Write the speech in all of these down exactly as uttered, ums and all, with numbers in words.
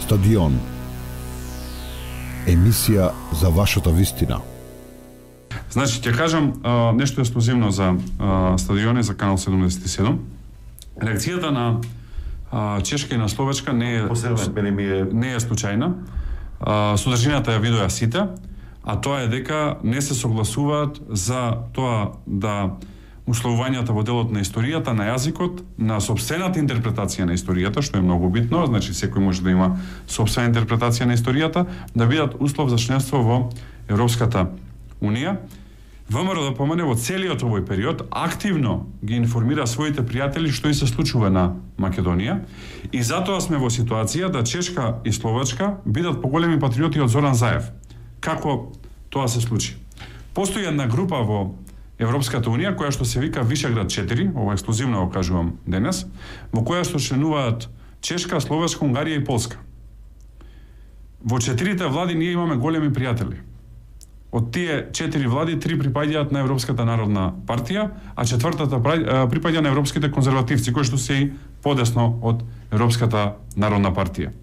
Стадион. Емисија за вашата вистина. Значи, ќе кажам а, нешто ексклузивно за а, стадиони за Канал седумдесет и седум. Реакцијата на а, Чешка и на Словачка не е Посебен, е... не е случајна. А, содржината ја видоа сите, а тоа е дека не се согласуваат за тоа да условувањата во делот на историјата, на јазикот, на сопствената интерпретација на историјата, што е многу битно, значи секој може да има сопствена интерпретација на историјата, да бидат услов за членство во Европската Унија. ВМРО да помине во целиот овој период активно ги информира своите пријатели што и се случува на Македонија и затоа сме во ситуација да Чешка и Словачка бидат поголеми патриоти од Зоран Заев. Како тоа се случи? Постои една група во Европската Унија, која што се вика Вишеград четири, ова ексклузивно го кажувам денес, во која што членуваат Чешка, Словачка, Унгарија и Полска. Во четирите влади ние имаме големи пријатели. Од тие четири влади, три припаѓаат на Европската народна партија, а четвртата припаѓа на европските конзервативци, кои што се и подесно од Европската народна партија.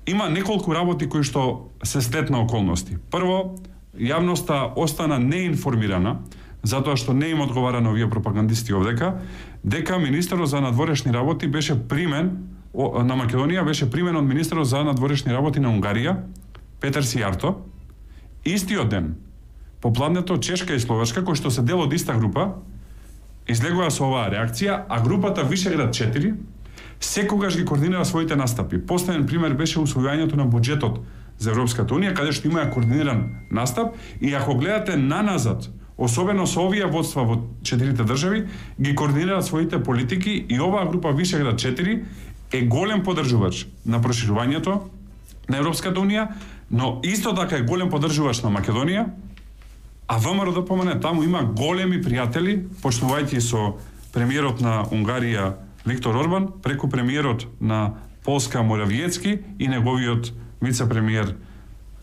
Има неколку работи кои што се сплетна околности. Прво, јавноста остана неинформирана, затоа што не им одговара на овие пропагандисти овдека, дека министерот за надворешни работи беше примен на Македонија беше примен од министерот за надворешни работи на Унгарија, Петер Сијарто. Истиот ден, попладнето Чешка и Словачка, кои што се дел од иста група, излегува со оваа реакција, а групата Вишеград четири секогаш ги координира своите настапи. Последен пример беше усвојувањето на буџетот за Европската Унија, каде што има координиран настап, и ако гледате наназад, особено со овие водства во четирите држави, ги координираат своите политики и оваа група Вишеград четири е голем поддржувач на проширувањето на Европската Унија, но исто така е голем поддржувач на Македонија, а ВМРО да помене, таму има големи пријатели, почнувајќи со премиерот на Унгарија Виктор Орбан, преку премиерот на Полска Моравиецки и неговиот вице-премиер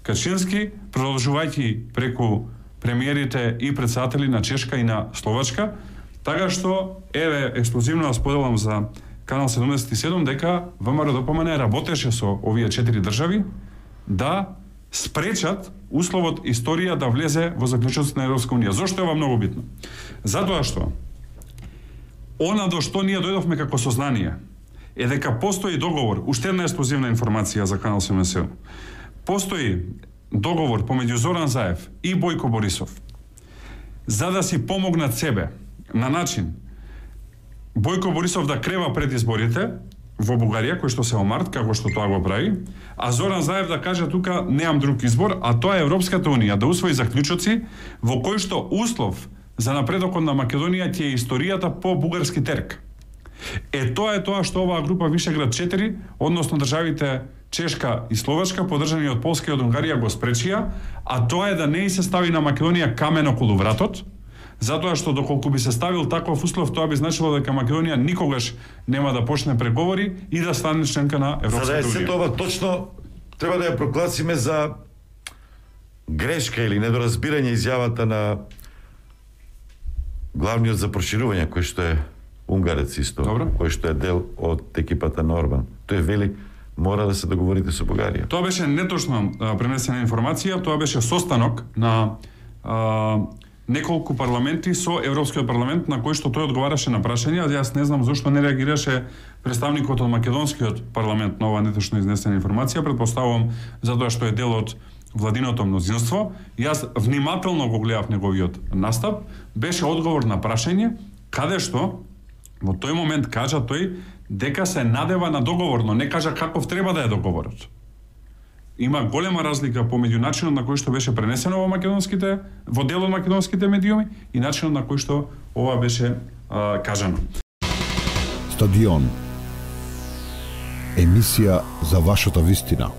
Качински, продолжувајќи преку премиерите и председатели на Чешка и на Словачка, така што еве ексклузивно да споделам за Канал седумдесет и седум дека ВМРО да помене работеше со овие четири држави да спречат условот историја да влезе во заклучоците на Европска Унија. Зошто е ова многу битно? Затоа што она до што ние дојдовме како сознание е дека постои договор, уште една ексклузивна информација за Канал седумдесет и седум. Постои договор помеѓу Зоран Заев и Бојко Борисов за да си помогнат себе на начин Бојко Борисов да крева пред изборите во Бугарија, кој што се во март, како што тоа го прави, а Зоран Заев да каже тука неам друг избор, а тоа е Европската Унија да усвои заклучоци во кој што услов за напредокот на Македонија ќе е историјата по бугарски терк. Е тоа е тоа што оваа група Вишеград четири, односно државите Чешка и Словачка, поддржани од Полска и од Унгарија, го спречија, а тоа е да не и се стави на Македонија камен околу вратот, затоа што доколку би се ставил таков услов, тоа би значило дека Македонија никогаш нема да почне преговори и да стане членка на Европската Унија. За да е се тоа точно, треба да ја прогласиме за грешка или недоразбирање изјавата на главниот за проширување, кој што е унгарец исто, Добро. Кој што е дел од екипата на Орбан. Тој вели мора да се договорите со Бугарија. Тоа беше неточно а, пренесена информација, тоа беше состанок на а, неколку парламенти со Европскиот парламент на кој што тој одговараше на прашања. Јас не знам зошто не реагираше представникот од македонскиот парламент на оваа неточно изнесена информација, претпоставувам затоа што е дел од владиното мнозинство. Јас внимателно го гледав неговиот настап, беше одговор на прашање каде што во тој момент кажа тој дека се надева на договор, но не кажа каков треба да е договорот. Има голема разлика помеѓу начинот на кој што беше пренесено во македонските, во дел од македонските медиуми и начинот на кој што ова беше а, кажано. Стадион. Емисија за вашата вистина.